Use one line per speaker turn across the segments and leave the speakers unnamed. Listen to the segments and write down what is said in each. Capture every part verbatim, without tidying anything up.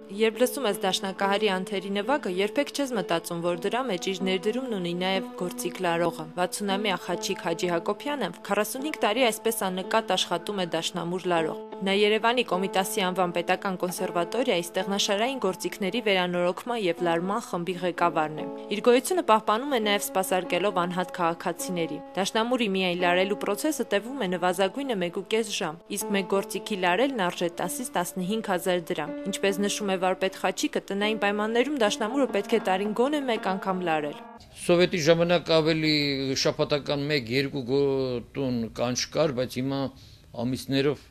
Երբ լսում ես դաշնակահարի անթերի նվագը, երբեք չես մտածում, որ դրա մեջ իր ներդրումն ունի նաև գործիք լարողը։ վաթսունամյա Խաչիկ Հաջի Հակոբյանը քառասունհինգ տարի այսպես աննկատ աշխատում է դաշնամուր լարող։ Նա Երևանի Կոմիտասի անվան պետական կոնսերվատորիայի ստեղնաշարային գործիքների վերանորոգման եւ լարման խմբի ղեկավարն է։ Իր գոյությունը պահպանում է նաև սպասարկելով անհատ քաղաքացիների։ Դաշնամուրի միայն լարելու process-ը տևում է նվազագույնը մեկ ու կես ժամ, իսկ մեկ գործիքի լարելն արժե տասից տասնհինգ հազար դրամ։ Ինչպես նշում է վարպետ Խաչիկը, տնային պայմաններում դաշնամուրը պետք է տարին գոնե մեկ անգամ լարել։
Սովետի ժամանակ ավելի շաբաթական մեկ-երկու տուն կանչ կար, բայց հիմա ամիսներով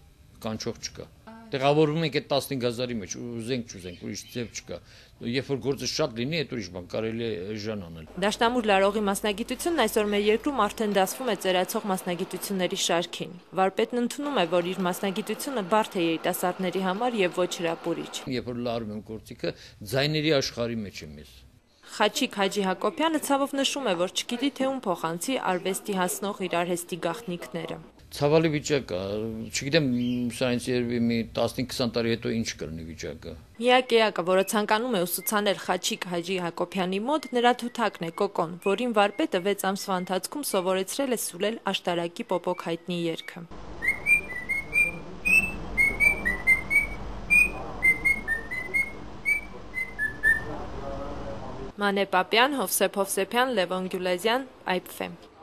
կանչող չկա։ Տեղավորվում ենք այդ տասնհինգ հազարի մեջ, ուզենք չուզենք, ուրիշ ձև չկա։ Երբ որ գործը շատ լինի, այդ ուրիշ բան կարելի է ժան անել։
Դաշնամուր լարողի մասնագիտությունն այսօր մեր երկրում արդեն դասվում է ծերացող մասնագիտությունների շարքին։ Վարպետն ընդունում է, որ իր մասնագիտությունը բարդ է երիտասարդների համար եւ ոչ հրապուրիչ։
Երբ որ լարում եմ գործիքը, ձայների աշխարհի մեջ եմ ես։
Խաչիկ Հաջի Հակոբյանը ցավով նշում է, որ չգիտի թե ում փոխանցի արվեստի հասնող իր արհեստի գաղտնիքները։
Ցավալի վիճակ է, չգիտեմ, սա ինձ երևի մի տասնհինգ-քսան տարի հետո ինչ կլինի վիճակը։
Միակ էակը, որը ցանկանում է ուսուցանել Խաչիկ Հաջի Հակոբյանի մոտ, նրա թութակն է Կոկոն, որին վարպետը վեց ամսվա ընթացքում սովորեցրել է սուլել աշտարակի պոպոկ հայտնի երգը։ Մանե Պապյան, Հովսեփ Հովսեփյան, Լևոն Գյուլազյան, Այփ Ֆ Էմ։